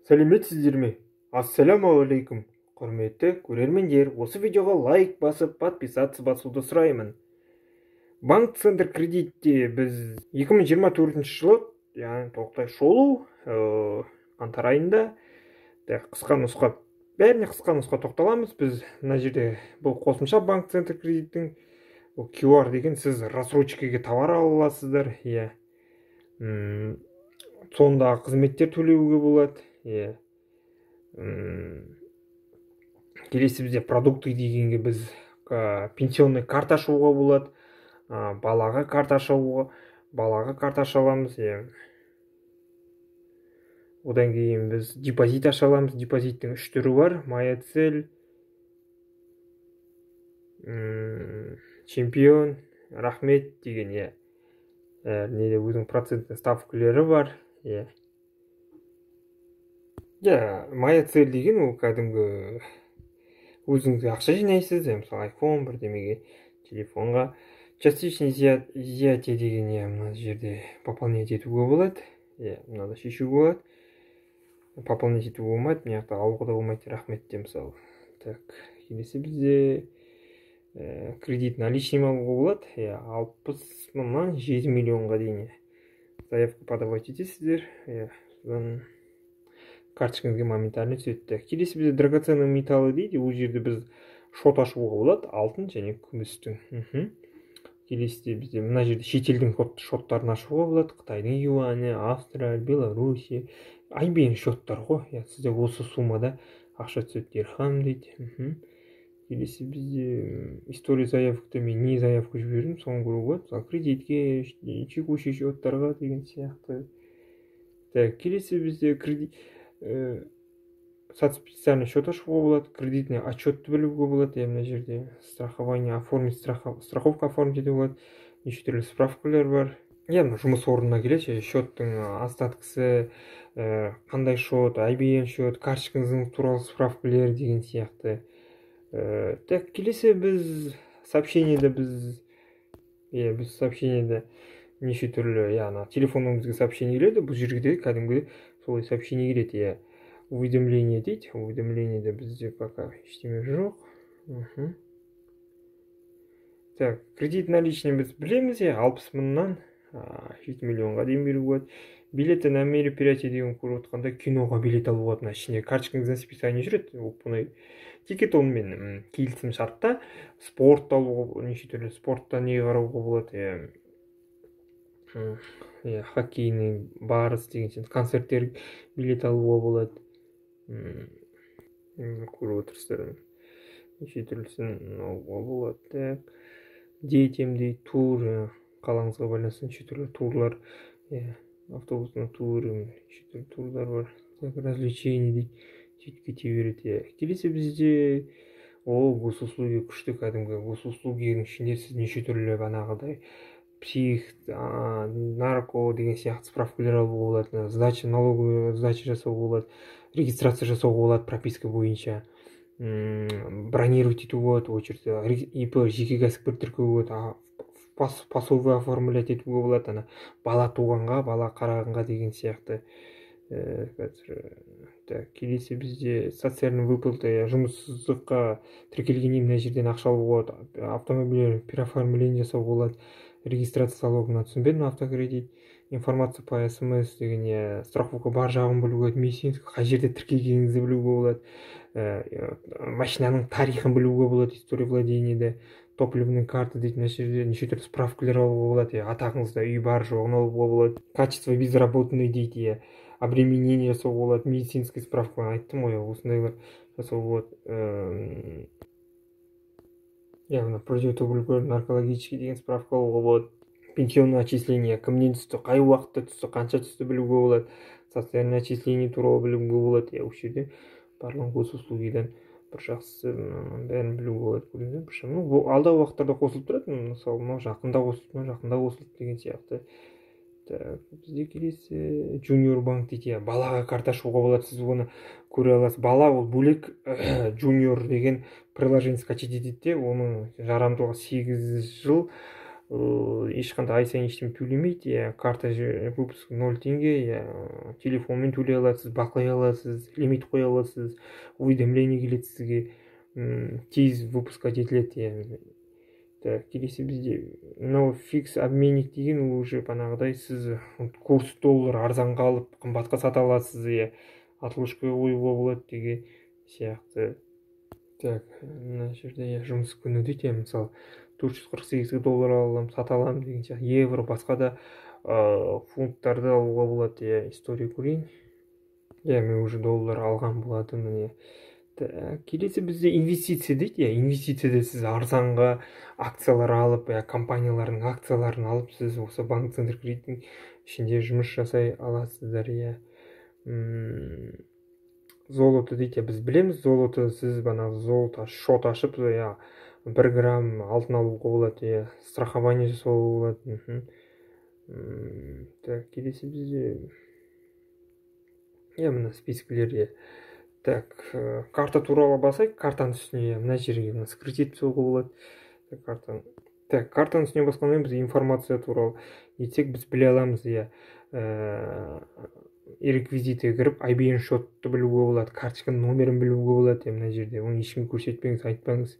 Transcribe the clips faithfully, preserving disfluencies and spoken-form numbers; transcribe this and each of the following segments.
Сәлеметсіздер ме? Ассалямуалейкум. Құрметті көрермендер, осы видеоға лайк басып, подписаться басуды сұраймын. Банк Центр кредитте біз екі мың жиырма төртінші жылы, яғни тоқтай шолу, қаңтар айында қысқа нұсқа, бәріне қысқа нұсқа тоқталамыз. Біз мына жерде бұл қосымша Банк Центр кредиттің кью ар деген, сіз рассрочкаға товар ала аласыздар. Иә. Сондағы қызметтер төлеуге болады. Иә. Келесі бізде продукты дегенге біз пенсионный карта ашуға болады. Балаға карта ашуға, балаға карта аша аламыз. Одан кейін біз депозит аша аламыз. Депозиттің үш түрі бар: Моя цель, чемпион, рахмет деген. Неде өзінің процентный ставкілері бар. Моя цель деген ол кәдімгі өзіңізге ақша жинайсыз, мысалы айфон бірдемеге, телефонға. Частичный изъятие деген, мына жерде пополнять етуге болады. Мынада шешуге болады. Пополнять етуге болмайды, мына жақта алуға да болмайды, рахмет де мысалы. Так, келесі бізде кредит наличный алуға болады. алпыс мыңнан жеті миллионға дейін заявка подавать етесіздер. Содан карточкаңызға моментально түседі. Келесі бізде драгоценный металлы дейді. Ол жерде біз шот ашуға болады, алтын және күмістің. Келесі бізде мына жерде шетелдің шоттарын ашуға болады. Қытайдың юаны, Австрия, Беларуси, ай бен шоттар ғой. Сізде осы суммада ақша түседі, дирхам дейді. Келесі бізде история заявкада мен не заявка жібердім, соны көруге болады. Кредитке, текущий счеттарға деген сияқты. Келесі бізде кредит специальный счет ашуға болады, кредитный отчетты білуге болады. Мына жерде страхование оформить, страховка оформить етуге болады. Неше түрлі справкалар бар. Жұмыс орнына келеді, счеттың остаткысы, қандай счет, ай би эм счет, карточкаңыздың туралы справкалар деген сияқты. Так, келесі біз сообщениеде біз біз сообщениеде неше түрлі, яғни телефоныңызға сообщение келеді. Бұл жерге кәдімгі солай сообщение келеді. Уведомление дейді. Уведомлениеде бізде пока ештеме жоқ. Так, кредит наличный біз білеміз, алпыс мыңнан жеті миллионға дейін беруге болады. Билеті на мероприятие деген көріп отқанда киноға билет алуға болады. Ішінде карточкаңыздан списание жүреді. Тикет онымен келісім шартта. Спорт алуға, неше түрлі спортта не қарауға болады. Хоккейный барыс деген концерттер билет алуға болады. Көріп отырсыздар. Неше түрлісін алуға болады. Детям дейді, тур, қалаңызға байланысты неше түрлі турлар, автобусның туры, неше түрлі турлар бар. Развлечение дейді, сөйтіп кете береді. Келесі бізде госуслуги күшті, кәдімгі госуслугінің ішінде сіз неше түрлі бағанағыдай псих, нарко деген сияқты справкалар алуға болады, сдача, налоговая сдача жасауға болады, регистрация жасауға болады прописка бойынша, бронировать етуге болады, очередь, ИП, жеке кәсіпкер тіркеуге болады, пособие оформлять етуге болады, бала туғанға, бала қарағанға деген сияқты. Келесі бізде социальный выплата, жұмыссыздыққа тіркелгеннен мына жерден ақша алуға болады, автомобиль переоформление жасауға болады, регистрация залогына түсінбедім, автокредит, информация по смс деген, страховка бар жағын білуге болады, медицинский қай жерде тіркелгеніңізді білуге болады, машинаның тарихын білуге болады, история владениеде, топливный карта дейді, неше түрлі справкалар алуға болады, атағыңызда үй бар жоғын алуға болады, качество безработный дейді, обременение жасауға болады, медицинский справка айттым ғой, осындайлар жасауға болады. Яғни противотуберкулез, наркологический деген справка алуға болады. Пенсионное отчисление, кімнен түсті, қай уақытта түсті, қанша түсті білуге болады. Социальное отчисление туралы білуге болады. Осы жерде барлық госуслугидан бір жақсы бәрін білуге болады. Алдағы уақыттарда қосылып тұрады, мысалы, жақында қосылып, жақында қосылып деген сияқты. Бізде келесі Junior банк дейді, балаға карта ашуға болады, сіз оны көре аласыз. Бала ол бөлек, Junior деген приложение скачать етеді, оның жарамдылығы сегіз жыл, ешқандай ай сайын ештеңе төлемейді, иә, карта выпуск ноль теңге, иә, телефонмен төлей аласыз, бақылай аласыз, лимит қоя аласыз, уведомление келеді сізге, тез выпускқа жетіледі, иә. Так, келесі бізде мынау фикс обменник деген, ол уже бағанағыдай сіз курс доллар арзанға алып қымбатқа сата аласыз, иә, отложка қоюға болады деген сияқты. Так, мына жерде жұмыс күні дейді, мысалы төрт жүз қырық сегіз доллар аламын, сата аламын деген сияқты. Евро, басқа да фунттарды алуға болады, иә, история көрейін. Иә, мен уже доллар алған болатын, міне. Келесі бізде инвестиция дейді, иә, инвестицияда сіз арзанға акциялар алып, иә, компаниялардың акцияларын алып, сіз осы банк центр кредиттің ішінде жұмыс жасай аласыздар, иә. Золото дейді, біз білеміз, золото, сіз бана золото шот ашып, иә, бір грамм алтын алуға болады, иә, страхование жасауға болады. Так, келесі бізде, иә, мына спискілер, иә. Так, карта туралы басайық, картаның үстіне, мына жерге мына кредит жасауға болады. Картаны. Так, картаның үстіне басқаннан біз информация туралы етсек, біз біле аламыз, иә, реквизитіге кіріп, ай би эн шотты білуге болады, карточканың номерін білуге болады, мына жерде, оны ешкім көрсетпеңіз, айтпаңыз.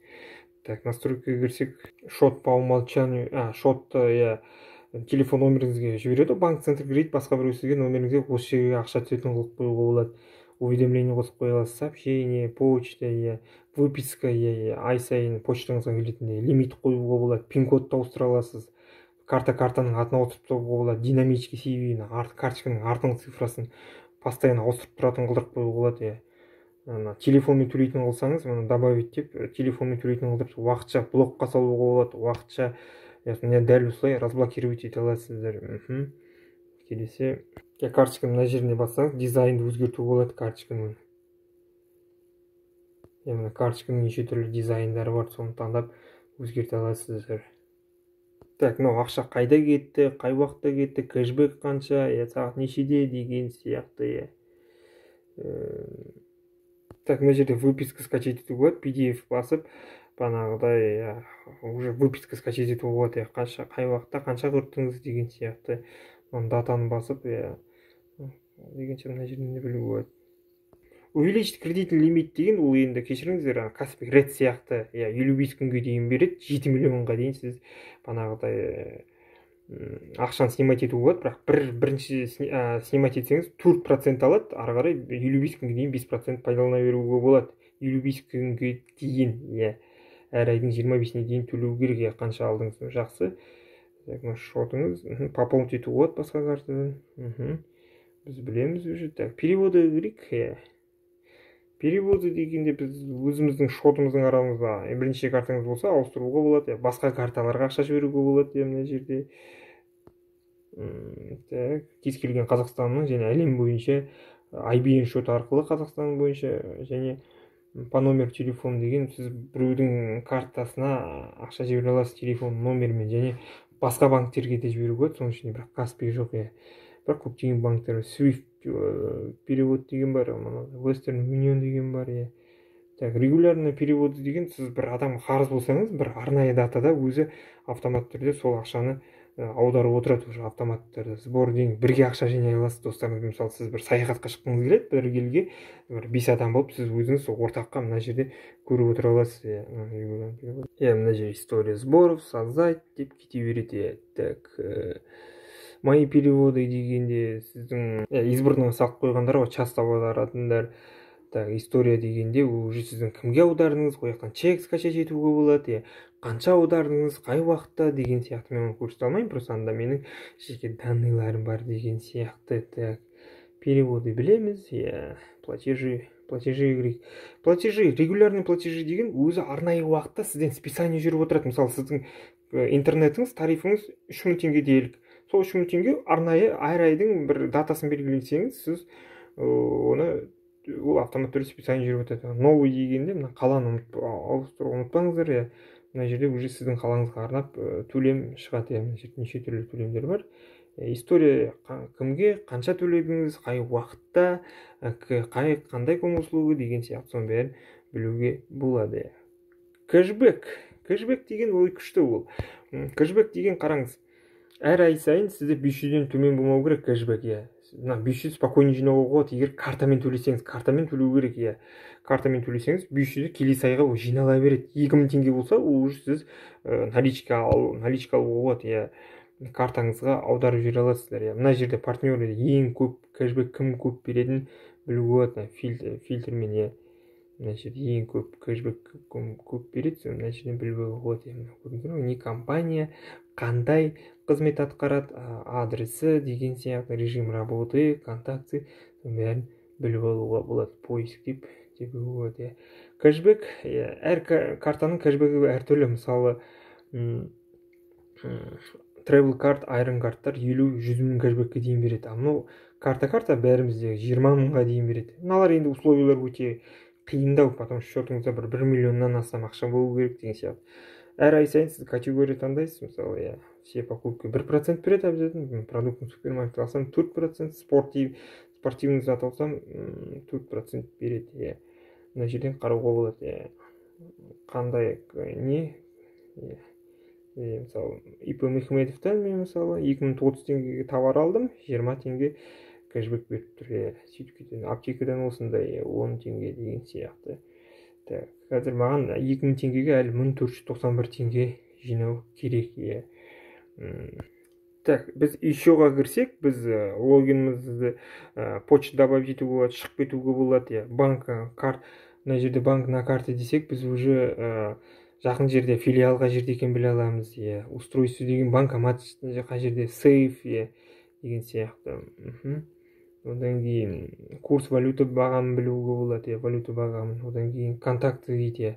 Так, настройкаға кірсек, шот по умолчанию, а, шотты, иә, телефон номеріңізге жібереді, банк центр кредит, басқа біреу сізге номеріңізге осы жерге ақша түсетін қылып қоюға болады. Уведомление қосып қоя аласыз, сообщение, почта, иә, выписка, иә, ай сайын почтаңызға келетіндей лимит қоюға болады, пин-кодты ауыстыра аласыз, карта картаның атын ауыстырып тастауға болады, динамический си ви, карточканың артыңғы цифрасын постоянно ауыстырып тұратын қылдырып қоюға болады, иә. Телефонмен төлейтін қылсаңыз, мұны добавить деп, телефонмен төлейтін қылдырып уақытша блокқа салуға болады, уақытша, дәл осылай разблокировать ете аласыздар. Келесі, карточканың мына жеріне бассаңыз, дизайнды өзгертуге болады карточканың. Яғни карточканың неше түрлі дизайндары бар, соны таңдап өзгерте аласыздар. Так, мынау ақша қайда кетті, қай уақытта кетті, кэшбэк қанша, сағат нешеде деген сияқты. Так, мына жерде выписка скачать етуге болады, пи ди эф басып, бағанағыдай уже выписка скачать етуге болады, қанша, қай уақытта қанша құрттыңыз деген сияқты. Датаны басып, дегенше мына жерінде білуге болады. Увеличить кредитный лимит деген, ол енді кешіріңіздер, Каспий Ред сияқты, елу бес күнге дейін береді, жеті миллионға дейін сіз бағанағыдай ақшаны снимать етуге болады, бірақ бір бірінші снимать етсеңіз төрт процент алады, ары қарай елу бес күнге дейін бес процент пайдалана беруге болады. елу бес күнге дейін, иә, әр айдың жиырма бесіне дейін төлеу керек, қанша алдыңыз, жақсы. Шотыңыз, пополнить етуге болады басқа картадан. Біз білеміз уже. Так, переводы керек, иә. Переводы дегенде біз өзіміздің шотымыздың арамызда бірінші картаңыз болса ауыстыруға болады, басқа карталарға ақша жіберуге болады, мына жерде. Так, кез келген Қазақстанның және әлем бойынша ай би эн шот арқылы Қазақстан бойынша және по номер телефон деген, сіз біреудің картасына ақша жібере аласыз телефон номерімен, және басқа банктерге де жіберуге болады, соның ішінде бірақ Каспий жоқ, иә. Бірақ көптеген банктер Swift перевод деген бар, Western Union деген бар, иә. Так, регулярный переводы деген, сіз бір адам қарыз болсаңыз, бір арнайы датада өзі автомат түрде сол ақшаны аударып отырады, уже автоматтарды. Сбор деген бірге ақша жинай аласыз достарыңызбен. Мысалы, сіз бір саяхатқа шыққыңыз келеді, бір елге бір бес адам болып, сіз өзіңіз ортаққа мына жерде көріп отыра аласыз. Иә, мына жерде история сборов, создать деп кете береді. Так, мои переводы дегенде сіздің избранный салып қойғандар ғой, часто аударатындар. Так, история дегенде уже сіздің кімге аудардыңыз, қояқтан чек скачать етуге болады, қанша аудардыңыз, қай уақытта деген сияқты. Мен оны көрсете алмаймын, просто анда менің жеке данныйларым бар деген сияқты. Так, переводы білеміз, платежи, платежи, платежи, регулярный платежи деген өзі арнайы уақытта сізден списание жүріп отырады. Мысалы, сіздің интернетіңіз, тарифіңіз үш мың теңге делік. Сол үш мың теңге арнайы әр айдың бір датасын белгілесеңіз, сіз оны ол автомат түрде списание жүріп өтеді. Новый дегенде мына қаланы ауыстыруға ұмытпаңыздар, иә. Мына жерде уже сіздің қалаңызға арнап төлем шығады, мына жерде неше түрлі төлемдер бар. История кімге, қанша төледіңіз, қай уақытта, қай қандай көңіл услуга деген сияқты, соның бәрін білуге болады. Кэшбэк. кэшбэк деген ой күшті ол. Кэшбэк деген қараңыз, әр ай сайын сізде бес жүзден төмен болмау керек кэшбэк, иә. Мына бес жүз спокойно жинауға болады, егер картамен төлесеңіз, картамен төлеу керек, иә. Картамен төлесеңіз бес жүзді келесі айға ол жинала береді. екі мың теңге болса, ол уже сіз наличка ал, наличка алуға болады, иә. Картаңызға аударып жібере аласыздар, иә. Мына жерде партнеры ең көп кэшбэк кім көп беретінін білуге болады, фильтр, фильтрмен, иә. Мына жерде ең көп кэшбэк көп береді, мына жерден білуге болады, иә. Көрдіңіздер ме, не компания, қандай қызмет атқарады, адресі деген сияқты, режим работы, контакты, бәрін біліп алуға болады. Поиск деп те білуге болады, иә. Кэшбэк, әр картаның кэшбэгі әртүрлі. Мысалы, Travel карт, айрон карттар елу жүз мың кэшбэкке дейін береді. Ал карта карта бәрімізде жиырма мыңға дейін береді. Мыналар енді условиялар өте қиындау, потому что счетыңызда бір бір миллионнан астам ақша болу керек деген сияқты. Әр ай сайын сіз категория таңдайсыз, мысалы, иә, все покупки бір процент береді обязательно, продуктын супермаркет алсам төрт процент, спортивный зат алсам төрт процент береді, иә. Мына жерден қарауға болады, иә. Қандай не, иә. Мысалы, ИП Мехметовтан мен мысалы екі мың отыз теңгеге товар алдым, жиырма теңге кэшбэк беріп тұр, иә. Сөйтіп кетеді. Аптекадан осындай он теңге деген сияқты. Так, қазір маған екі мың теңгеге әлі мың төрт жүз тоқсан бір теңге жинау керек, иә. Так, біз еще-ға кірсек, біз логинімізді почта добавить етуге болады, шығып кетуге болады, иә. Банк карт, мына жерде банк на карте десек, біз уже жақын жерде филиалға жерде екен біле аламыз, иә. Устройство деген банкомат қай жерде, сейф, иә, деген сияқты. Одан кейін курс валюта бағамын білуге болады, иә, валюта бағамын. Одан кейін контакты дейді, иә.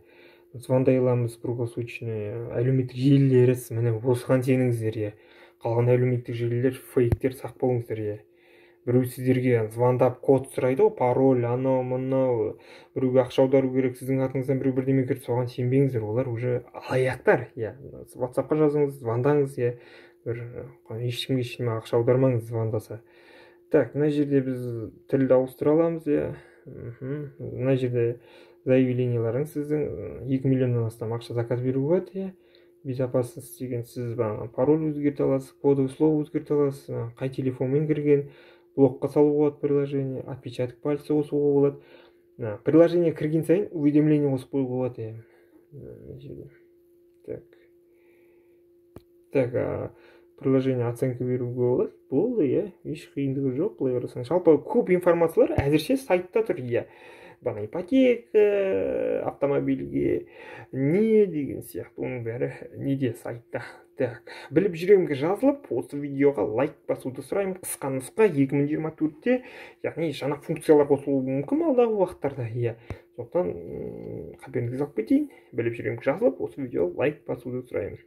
Звондай аламыз круглосуточно, әлеуметтік желілері, міне осыған сеніңіздер, иә. Қалған әлеуметтік желілер фейктер, сақ болыңыздар, иә. Біреу сіздерге звондап код сұрайды, пароль, анау, мынау, біреуге ақша аудару керек, сіздің атыңыздан біреу бірдеме кірді, соған сенбеңіздер, олар уже алаяқтар, иә. WhatsApp-қа жазыңыз, звондаңыз, иә. Бір ешкімге ешкімге ақша аудармаңыз звондаса. Так, мына жерде біз тілді ауыстыра аламыз, иә. Мына жерде заявленияларың сіздің екі миллионнан астам ақша заказ беруге болады, иә. Безопасность деген сіз пароль өзгерте аласыз, кодовое слово өзгерте аласыз, қай телефонмен кірген, блокқа салуға болады приложение, отпечаток пальца қосуға болады. Приложение кірген сайын уведомление қосып қоюға болады, иә. Так. Так, приложение оценка беруге болады. Болды, иә. Еш қиындығы жоқ, былай қарасаң. Жалпы көп информациялар әзірше сайтта тұр, иә. Бана ипотека, автомобильге не деген сияқты, оның бәрі неде, сайтта. Так, біліп жүремге жазылып, осы видеоға лайк басуды сұраймын. Қысқа нұсқа екі мың жиырма төртте, яғни жаңа функциялар қосылуы мүмкін алдағы уақыттарда, иә. Сондықтан қаперіңізге алып кетейін. Біліп жүремге жазылып, осы видеоға лайк басуды сұраймын.